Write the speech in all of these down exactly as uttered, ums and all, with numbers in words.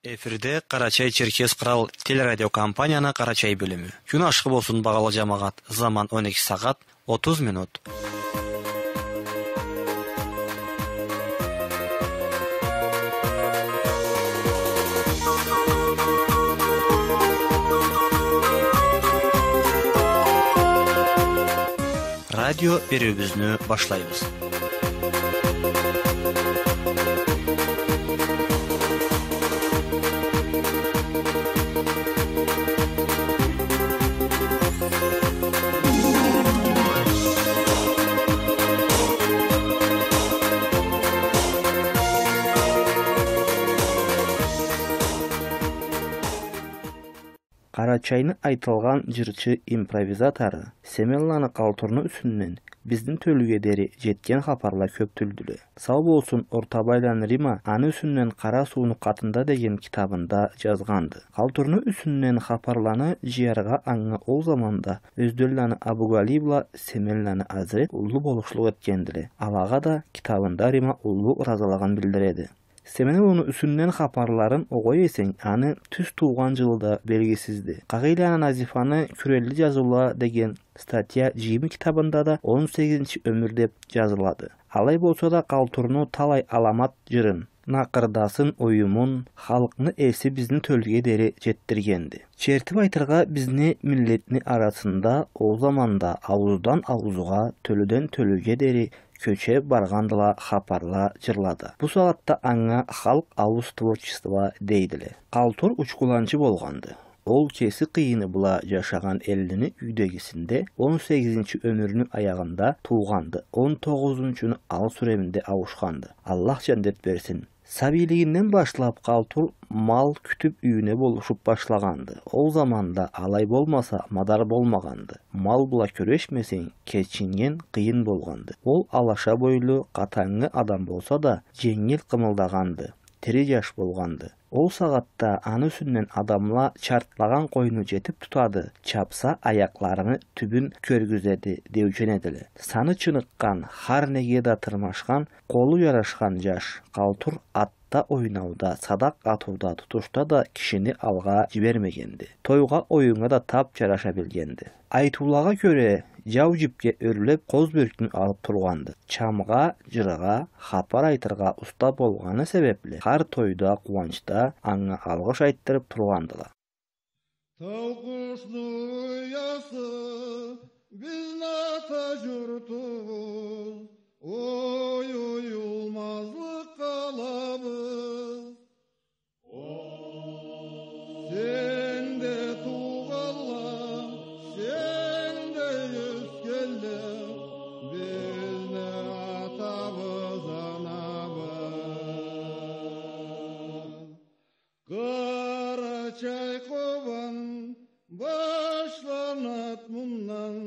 Эфирде Къарачай-Черкес Кърал телерадиокомпанияны Къарачай бёлюмю. Кюн ашхы болсун, багъалы джамагъат. Заман он эки сагъат, отуз минут. Радио бериуюбюзню башлайбыз. Къарачайны айтылгъан джырчы-импровизатору Семенланы Къалтурну юсюнден бизни тёлюге дери джетген хапарла кёп тюлдюле. Сау болсун Ортабайланы Рима аны юсюнден «Къара сууну къатында» деген китабында джазгъанды. Къалтурну юсюнден хапарланы джыяргъа анга ол заманда Ёзденланы Абугалий бла Семенланы Азрет уллу болушлукъ этгендиле. Алагъа да китабында Рима уллу ыразылыгъын билдиреди. Семен улуну юсюнден хапарларын огъай эсенг, аны тюз туугъан джылы да белгисизди. Къагъыйланы Назифаны «Кюрелли джазыула» деген статья джыйымы китабында да он сегизинчи ёмюр деб джазылады. Алай болса да, Къалтурну талай аламат джырын, накъырдасын, оюмун, халкъны эси бизни тёлюге дери джетдиргенди. Чертиб айтыргъа, бизни миллетни арасында ол заманда аууздан ауузгъа, тёлюден тёлюге дери кёчеб баргъандыла хапарла, джырла да. Бу сагъатда анга халкъ ауз творчество дейдиле. Къалтур учкуланчы болгъанды. Ол кеси къыйыны бла джашагъан эллини юйдегисинде он сегизинчи ёмюрню аягъында туугъанды. Он тогъузунчуну ал сюреминде ауушханды. Аллах джандет берсин. Сабийлигинден башлаб Къалтур мал кютюб юйюне болушуб башлагъанды. Ол заманда алай болмаса, мадар болмагъанды. Мал бла кюрешмесенг, кечинген къыйын болгъанды. Ол алаша бойлу, къатангы адам болса да, дженгил къымылдагъанды. Тири джаш болгъанды. Ол сагъатда аны юсюнден адамла чартлагъан къойну джетиб тутады, чабса, аякъларыны тюбюн кёргюзеди, деучен эдиле. Саны чыныкъгъан, хар неге да тырмашхан, къолу джарашхан джаш Къалтур атда ойнауда, садакъ атыуда, тутушда да кишини алгъа джибермегенди. Тойгъа, оюннга да таб джараша билгенди. Айтыулагъа кёре, джау джибге ёрлеб, къоз бёркню алыб тургъанды. Чамгъа, джыргъа, хапар айтыргъа уста болгъаны себебли, хар тойда, къууанчда анга алгъыш айтдырыб тургъандыла. Тау къушну уясы, бизни ата джуртубуз, ой, оюлмазлыкъ къалабыз. Сенде туугъанла, сенде ёсгенле, бизни атабыз, анабыз. Къарачай, Къобан башланад мындан,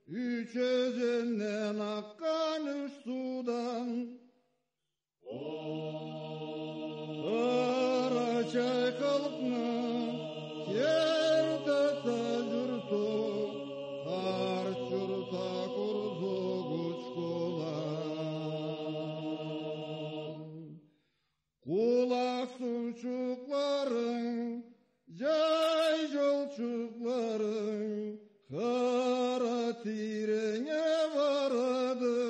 юч ёзенден акъгъан юч суудан. Къарачай халкъны керти ата джурту, къарт джурт Акъурзукъ, Учкулан. Къулакъ суучукъларынг, джай джолчукъларынг, къара тийренге барады.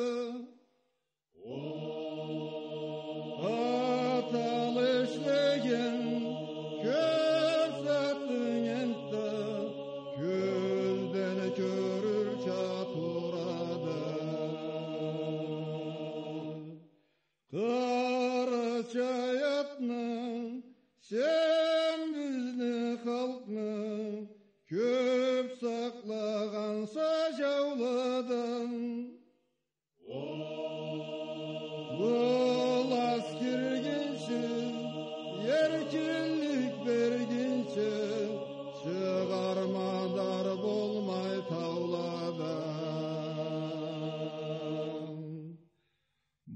Аталы ишлеген кёп затынг энтда кёзден кёрюрча турады. Къарачай атны, сен бизни халкъны кёп сакълагъанса джауладан. Ол аскиргинчи, эркинлик бергинчи, чыгъар мадар болмай тауладан.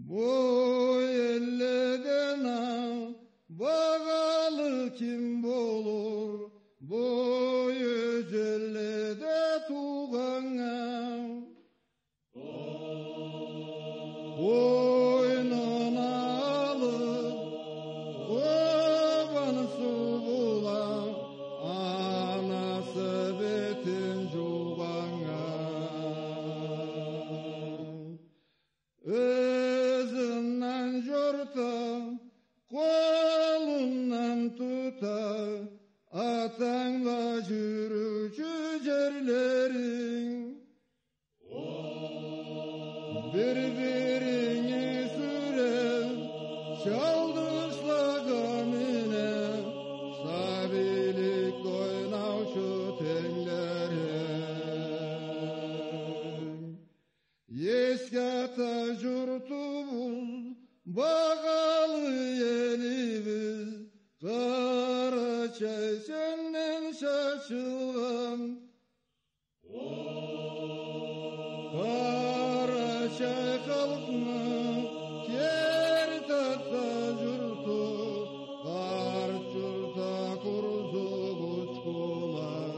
Бу элледен а багъалы ким болур, бу ёзенледе туугъаннга? Къойнуна алыб, Къобан су Бир-биринги сюре, чалдышлагъа мине, сабийлик ойнаучу тенглерим. Эсге ата журтубуз, багъалы элибиз, Къарачай сенден чачылгъан. Къарачай халкъны керти ата журту, къарт журтда къурусуп учхулан.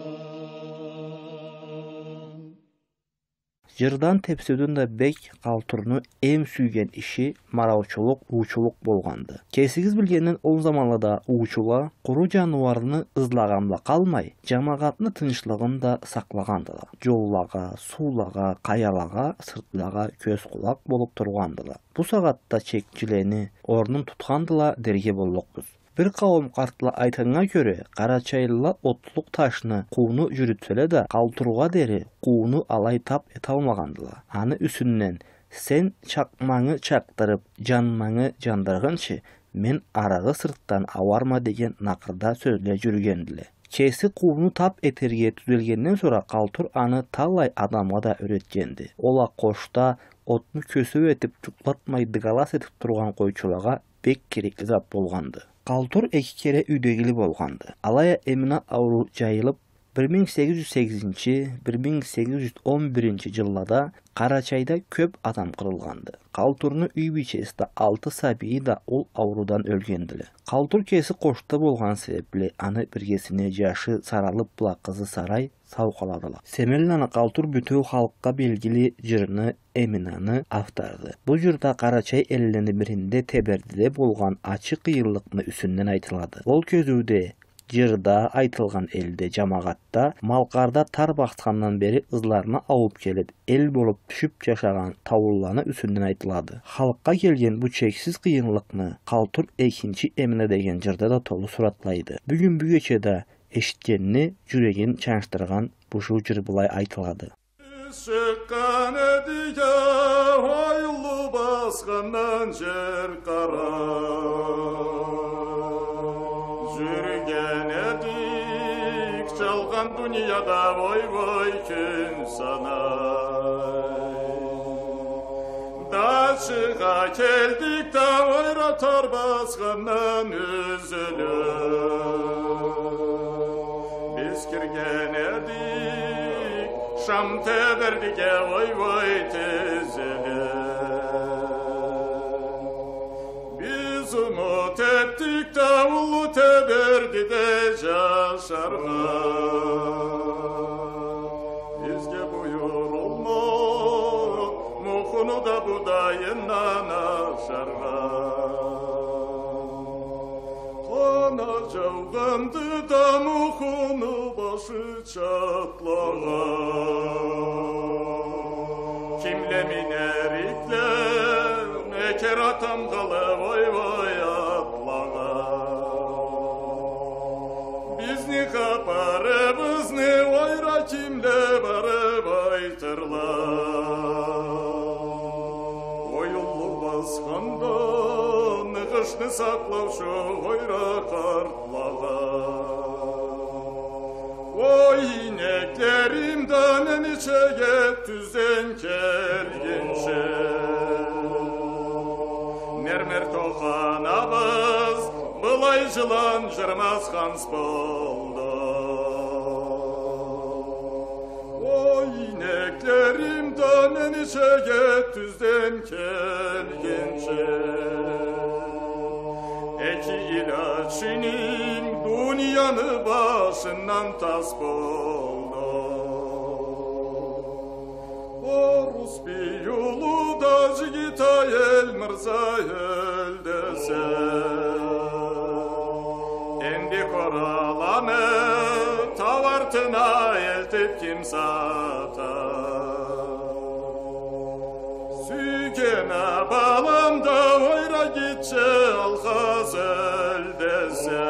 Жырдан, тепсеуден да бек Къалтурну эм сюйген иши мараучулукъ, уучулукъ болгъанды. Кесигиз билгенден, ол заманлада уучула къуру жаныуарны ызлагъан бла къалмай, жамагъатны тынчлыгъын да сакълагъандыла. Жоллагъа, суулагъа, къаялагъа, сыртлагъа кёз-къулакъ болуп тургъандыла. Бу сагъатда чекчилени орнун тутхандыла дерге боллукъбуз. Бир къауум къартла айтханнга кёре, къарачайлыла отлукъ ташны къууну жюрютселе да, Къалтургъа дери къууну алай тап эталмагъандыла. Аны юсюнден: «Сен чакъмангы чакъдырып, жанмангы жандыргъынчы, мен арыгъы сыртдан ауарма», — деген накъырда сёзле жюрюгендиле. Кеси къууну тап этерге тюзелгенден сора Къалтур аны талай адамгъа да юйретгенди. Ол а къошда отну кёсеу этип, жукълатмай дыгалас этип тургъан къойчулагъа бек керекли зат болгъанды. Къалтур эки кере юйдегили болгъанды. Алай а Эмина ауруу жайылып, бир минг сегиз жюз сегизинчи, бир минг сегиз жюз он биринчи жыллада Къарачайда кёп адам къырылгъанды. Къалтурну юй бийчеси да, алты сабийи да ол ауруудан ёлгендиле. Къалтур кеси къошда болгъан себепли, аны биргесине жашы Саралып бла къызы Сарай сау къаладыла. Семенланы Къалтур бютеу халкъгъа белгили жырны «Эминаны» авторду. Бу жырда Къарачай эллени биринде Тебердиде болгъан ачы къыйынлыкъны юсюнден айтылады. Ол кёзюуде жырда айтылгъан элде, жамагъатда, малкъарда тар басхандан бери ызларына аууп келип, эл болуп тюшюп жашагъан таулуланы юсюнден айтылады. Халкъгъа келген бу чексиз къыйынлыкъны Къалтур «Экинчи Эмина» деген жырда да толу суратлайды. Бюгюн бюгече да эшитгенни жюрегин чанчдыргъан бушуу жыр былай айтылады. Биз чыкъгъан эдик а, ойлу басхандан жер къара. Жюрюген эдик жалгъан дунияда, ой-ой, кюн санай. Дачыгъа келдик да, ойра тар басхандан юзюлюп. Биз кирген эдик Шам Тебердиге, ой-ой, тизилип. Биз умут этдик да уллу Тебердиде жашаргъа. Бизге буюрулмагъан мухуну да, будайындан ашаргъа. Къанат жаугъанды да мухуну башы чатлагъан. Кимле минер итле, экер а тамгъалы, ой-ой, атлагъа. Бизни хапарыбызны ойра кимле барып айтырла? Ой, уллу басхандан къышны сакълаучу ойра къартлагъа. Ой, инеклерим да мен ичеге тюзден келгинчи, мермер тоханабыз былай жылан жырмаз ханс болду. Ой, инеклерим да мен ичеге тюзден келгинчи, эки илячыным дунияны башындан тас болду. Орус бий улу да жигит а эл мырза ёл десе, энди къораланы тау артына элтип ким сата? Сюйген а балам да ойра гитче алгъа ёл десе,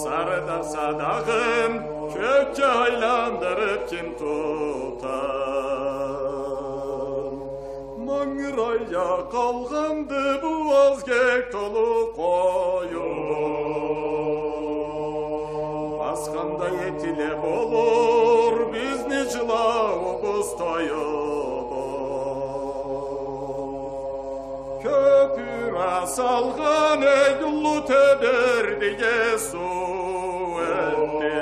сары да садагъын кёкге айландырып ким тута? Къалгъанды бу азгек толу къоюбуз. Асханда этиле болур бизни джылауубуз, тоюбуз. Кёпюр а салгъан эй уллу Тебердиге суу этди.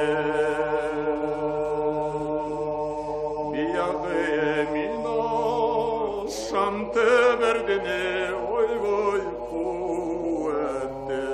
Биягъы Эмин а Шам Тебердини ой-ой къуу этди.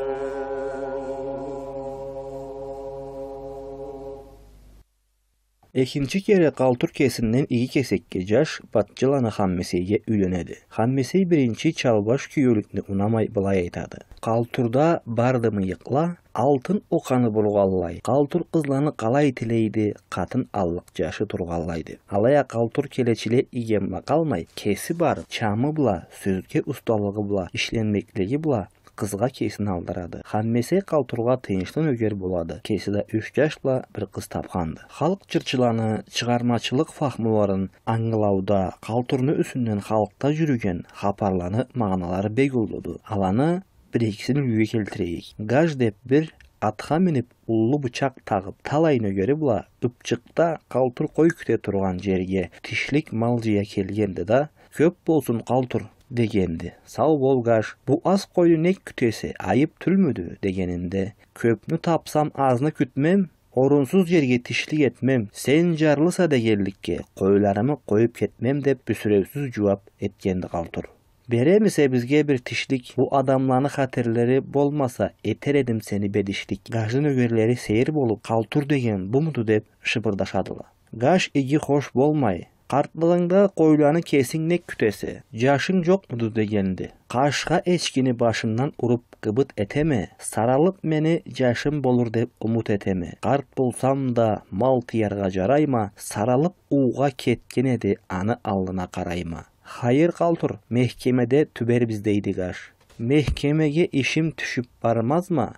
Экинчи кере Къалтур кесинден иги кесекге джаш Батчыланы Ханмесейге юйленеди. Ханмесей биринчи чалбаш киеулюкню унамай былай айтады: «Къалтурда барды мыйыкъла, алтын окъаны бургъанлай, Къалтур къызланы къалай тилейди, къатын аллыкъ джашы тургъанлай», — деп. Алай а Къалтур келечиле иген бла къалмай, кеси барып, чамы бла, сёзге усталыгъы бла, ишленмеклиги бла къызгъа кесин алдырады. Ханмесей Къалтургъа тыйыншлы нёгер болады. Кеси да юч джаш бла бир къыз тапханды. Халкъ джырчыланы чыгъармачылыкъ фахмуларын ангылауда, Къалтурну юсюнден халкъда джюрюген хапарланы магъаналары бек уллуду. Аланы бир-экисин юйге келтирейик. Гаж деп бир атха минип, уллу бычакъ тагъып, талай нёгери бла Ыпчыкъда Къалтур къой кюте тургъан джерге тишлик мал джыя келгенди да: «Кёп болсун, Къалтур», — дегенди. «Сау бол, Гаж. Бу аз къойну нек кютесе, айып тюлмюдю?» — дегенинде: «Кёпню тапсам, азны кютмем, орунсуз джерге тишлик этмем. Сен джарлыса дегенликге, къойларымы къоюп кетмем», — деп бюсюреусюз джууап этгенди Къалтур. «Беремисе бизге бир тишлик? Бу адамланы хатерлери болмаса, этер эдим сени бедишлик». Гажны нёгерлери сейир болуп: «Къалтур деген бумуду?» — деп шыбырдашадыла. Гаж иги хош болмай: «Къартлыгъынгда къойланы кесинг нек кютесе? Джашынг джокъмуду?» — дегенди. «Къашха эчкини башындан уруп, гыбыт этеме, саралып мени джашым болур деп умут этеме. Къарт болсам да, мал тыяргъа джарайма, саралып уугъа кетген эди, аны аллына къарайма». «Хайыр, Къалтур, мехкемеде тюбербиз», — дейди Гаж. «Мехкемеге ишим тюшюп бармазма,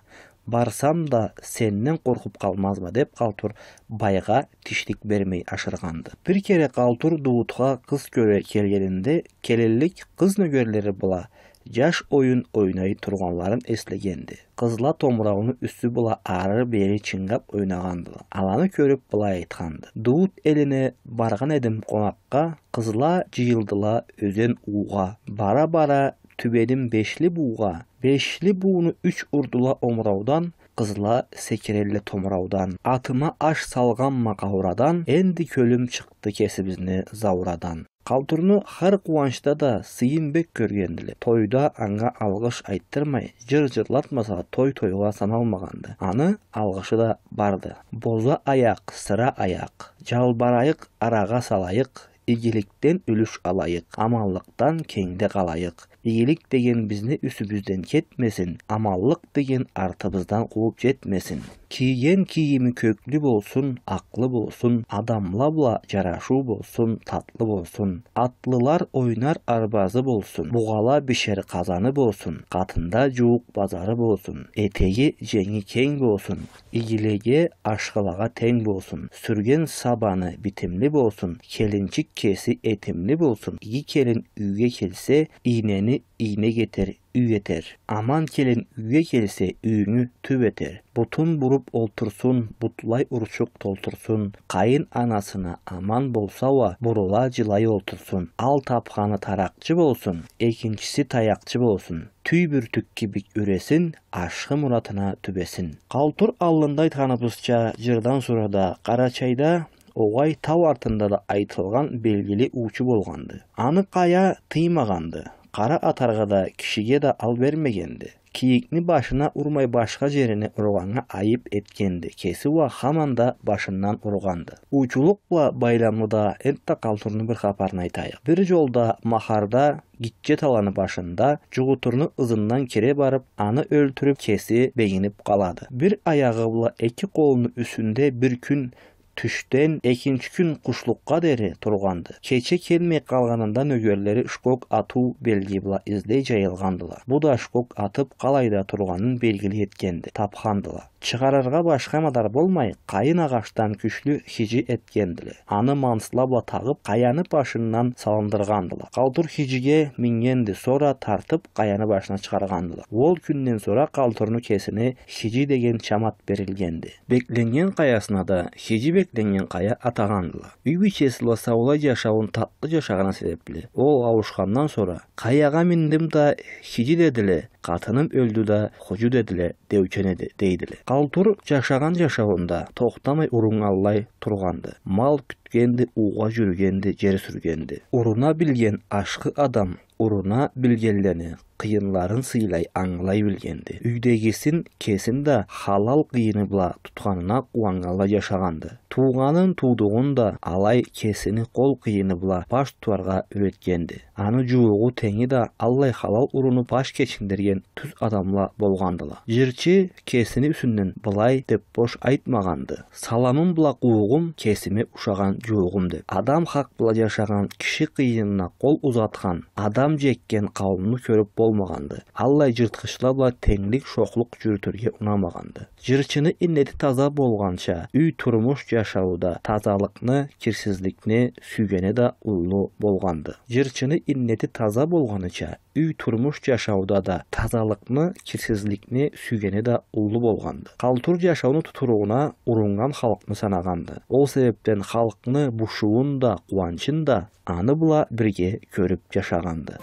барсам да, сенден къоркъуп къалмазма», — деп, Къалтур байгъа тишлик бермей ашыргъанды. Бир кере Къалтур Дуутха къыз кёре келгенинде, келинлик къыз нёгерлери бла джаш оюн ойнай тургъанларын эслегенди. Къызла томурауну юсю бла ары-бери чынгап ойнагъандыла. Аланы кёрюп, былай айтханды: «Дуут элине баргъан эдим къонакъгъа, къызла джыйылдыла ёзен уугъа. Бара-бара тюбедим Бешли буугъа. Бешли бууну юч урдула омураудан, къызла секирелле томураудан. Атыма аш салгъанма къаурадан, энди кёлюм чыкъды кесибизни заурадан». Къалтурну хар къууанчда да сыйын бек кёргендиле. Тойда анга алгъыш айтдырмай, джыр джырлатмаса, той тойгъа саналмагъанды. Аны алгъышы да барды. «Боза аякъ, сыра аякъ, джалбарайыкъ, арагъа салайыкъ, игиликден юлюш алайыкъ, аманлыкъдан кенгде къалайыкъ. Игилик деген бизни юсюбюзден кетмесин, аманлыкъ деген артыбыздан къууп джетмесин. Кийген кийими кёклю болсун, акълы болсун, адамла бла джарашыу болсун, татлы болсун. Атлылар ойнар арбазы болсун, бугъала бишер къазаны болсун, къатында джууукъ базары болсун, этеги, дженги кенг болсун, игилеге, ашхылагъа тенг болсун, сюрген сабаны битимли болсун, келинчик кеси этимли болсун. Иги келин юйге келсе, ийнени ийнек этер, юй этер. Аман келин юйге келсе, юйюнгю тюп этер. Бутун буруп олтурсун, бутлай урчукъ толтурсун. Къайын анасына аман болса уа, бурула джылай олтурсун. Ал тапханы таракъчы болсун, экинчиси таякъчы болсун. Тюй бюртюк кибик юресин, ашхы муратына тюбесин. Къалтур аллында айтханыбызча, джырдан сора да Къарачайда огъай, тау артында да айтылгъан белгили уучу болгъанды. Аны къая тыймагъанды. Къара атаргъа да, кишиге да ал бермегенди. Кийикни башына урмай, башха джерине ургъаннга айып этгенди. Кеси уа хаман да башындан ургъанды. Уучулукъ бла байламлы да энтда Къалтурну бир хапарын айтайыкъ. Бир джолда Махарда гитче таланы башында джугъутурну ызындан кире барып, аны ёлтюрюп, кеси бегинип къалады. Бир аягъы бла эки къолуну юсюнде бир кюн Тюшден экинчи кюн къушлукъгъа дери тургъанды. Кече келмей къалгъанында нёгерлери шкок атыу белги бла излей джайылгъандыла. Бу да шкок атып, къалайда тургъанын белгили этгенди. Тапхандыла. Чыгъарыргъа башха мадар болмай, къайын агъачдан кючлю хиджи этгендиле. Аны мансла бла тагъып, къаяны башындан салындыргъандыла. Къалтур хиджиге мингенди, сора тартып, къаяны башына чыгъаргъандыла. Ол кюнден сора Къалтурну кесине Хиджи деген чам ат берилгенди. Бекленнген къаясына да Хиджи бекленнген къая атагъандыла. Юй бийчеси бла саулай джашауун татлы джашагъаны себепли, ол ауушхандан сора, къаягъа миндим да, хиджи дедиле, къатыным ёлдю да, худжу дедиле, деучен эди, дейдиле. Къалтур джашагъан джашауунда тохтамай уруннганлай тургъанды. Мал кютгенди, уугъа джюрюгенди, джер сюргенди. Уруна билген ашхы адам уруна билгенлени, къыйынларын сыйлай, ангылай билгенди. Юйдегисин, кесин да халал къыйыны бла тутханына къууаннганлай джашагъанды. Туугъанын, туудугъун да алай кесини къол къыйыны бла баш тутаргъа юретгенди. Аны джууугъу, тенги да аллай халал урунуп, баш кечиндирген тюз адамла болгъандыла. Джырчы кесини юсюнден былай деп бош айтмагъанды: «Саламым бла къуугъум кесиме ушагъан джууугъум», — деп. Адам хакъ бла джашагъан киши къыйынына къол узатхан, адам джекген къауумну кёрюп болмагъанды. Аллай джыртхычла бла тенглик, шохлукъ джюрютюрге унамагъанды. Джырчыны иннети таза болгъанча, юй турмуш джашауда тазалыкъны, кирсизликни сюйгени да уллу болгъанды. Джырчыны иннети таза болгъаныча, юй турмуш джашауда да тазалыкъны, кирсизликни сюйгени да уллу болгъанды. Къалтур джашауну тутуругъуна уруннган халкъны санагъанды. Ол себепден халкъны бушуун да, къууанчын да аны бла бирге кёрюп джашагъанды.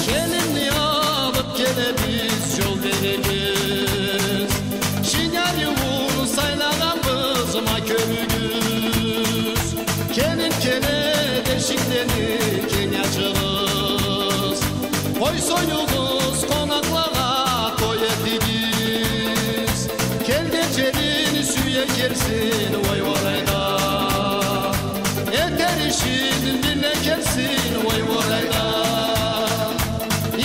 Келинни алып келебиз, джол беребиз. Шин ариуун сайлагъанбыз, ма кёрюгюз. Келин келе, эшиклени кенг ачыгъыз. Къой союгъуз, къонакълагъа той этигиз. Келген джерин сюе келсин, ой, орайда. Этер ишин биле келсин, ой, орайда.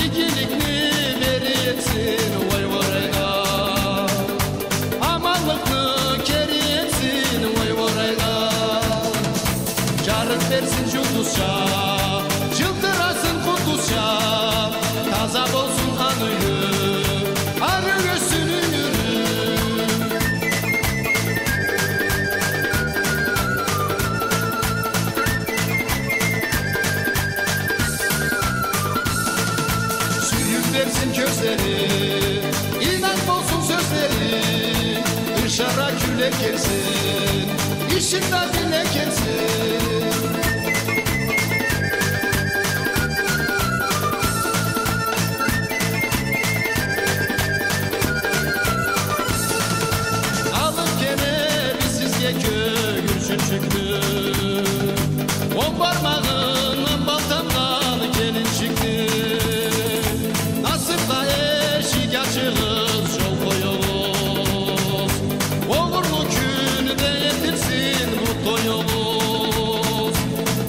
Игиликни бери этсин, ой, орайда. Аманлыкъны кери этсин, ой, орайда. Джарыкъ берсин джулдузча, джылтырасын къундузча, таза болсун аны юйю, ары ёссюн ёмюрю. Сюйюп берсин кёзлери, инанч болсун сёзлери, ышара кюле келсин, ишин да биле келсин. Алып келебиз сизге кёгюрчюнчюкню, он бармагъындан балтамдан келинчикни. Насыпха эшик ачыгъыз, джол къоюгъуз. Огъурлу кюн да этилсин бу тоюгъуз.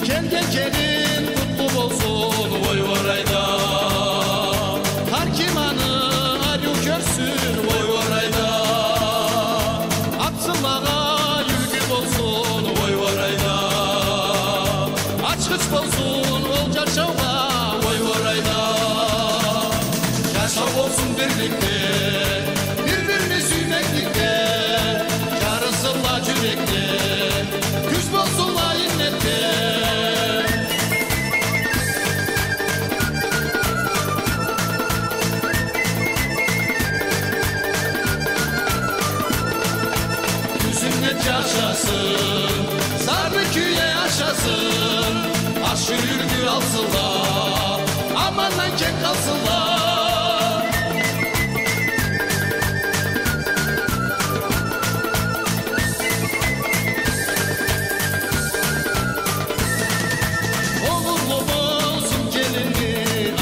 Келген келин къутлу болсун, ой, орайда. Хар ким аны ариу кёрсюн, ой, орайда. Атсынлагъа юлгю болсун, ой, орайда. Ачхыч болсун ол джашаугъа, ой, орайда. Джашау болсун бирликде, бир-бирини сюймекликде. Джарысынла джюрекде, кюч болсунла иннетде. Тюз иннет джашасын, зарлы кюйде ашасын, ашхы юлгю алсынла, амандан кек къалсынла. Огъурлу болсун келинни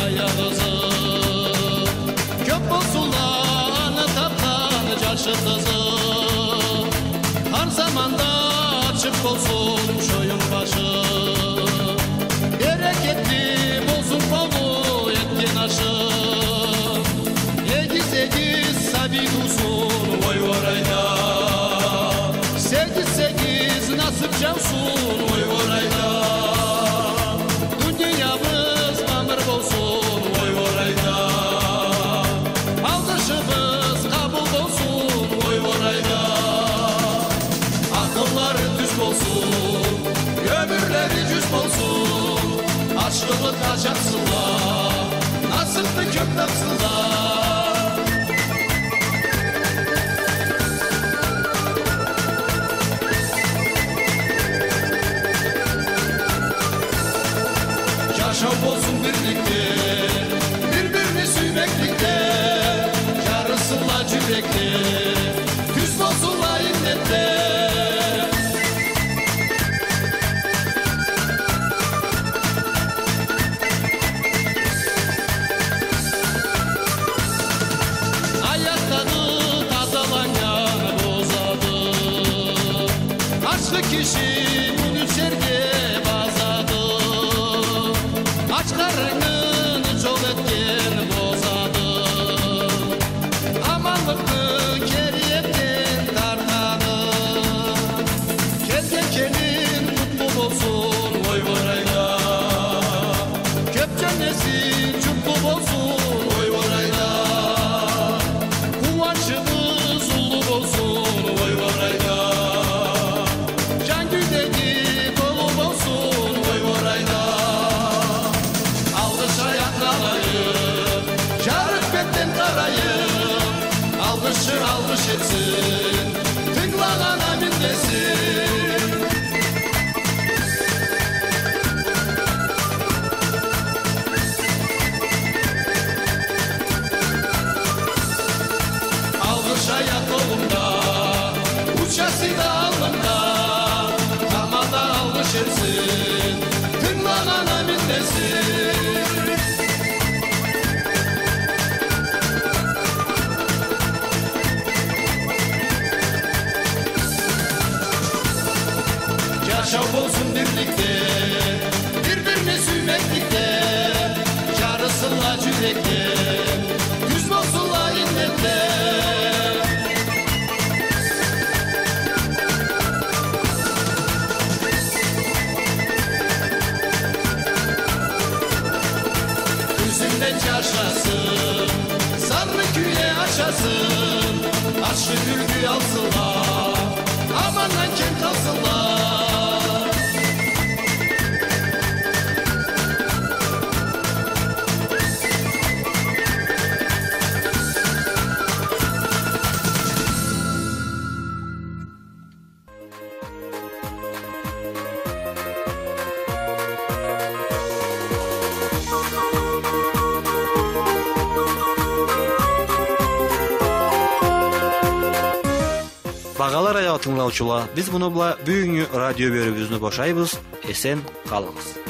аякъ ызы. Кёп болсунла Болсун шоюн башы, берекетли болсун къолу этген ашы. Эгиз, эгиз сабий туусун, ой, орайда. Сегиз, сегиз насып жаусын, ой, орайда. Дуниябыз мамыр болсун, ой, орайда. Алгъышыбыз къабыл болсун, ой, орайда. Акъыллары тюз болсун, ёмюрлери жюз болсун. Ашхылыкъгъа чапсынла, насыпны кёп тапсынла. Жашау болсун бирликде, бир-бирни сюймекликде, жарысынла жюрекле, тюз болсунла иннетле. Аякъ дагъы тазаланнган бозады. Ашхы киши муну жерге базады. Ач къарынны жол этген бозады. Аманлыкъны кери этген тартады. Келген келин къутлу болсун, ой, орайда. Кёп жёндеси журтлу болсун, ой, орайда. Къууанчыбыз уллу болсун, ой, орайда. Жан кюйдеги толу болсун, ой, орайда. Алгъыш аякъ алайыкъ, жарыкъ бетден къарайыкъ. Алгъышчы алгъыш этсин, тынгылагъан амин десин. Алгъыш аякъ къолумда, учасы да аллымда, тамада алгъыш этсин, тынгылагъан амин десин. Жашау болсун бирликде, бир-бирни сюймекликде, жарысынла жюрекле, тюз болсунла иннетле. Тюзюнден жашасын, сарны кюйде ашасын, ашхы кюлгю алсынла, амандан кем къалсынла. Багъалы радио тынгылаучула, биз муну бла бюгюннгю радио бёлюмюбюзню бошайбыз. Эсен къалыгъыз.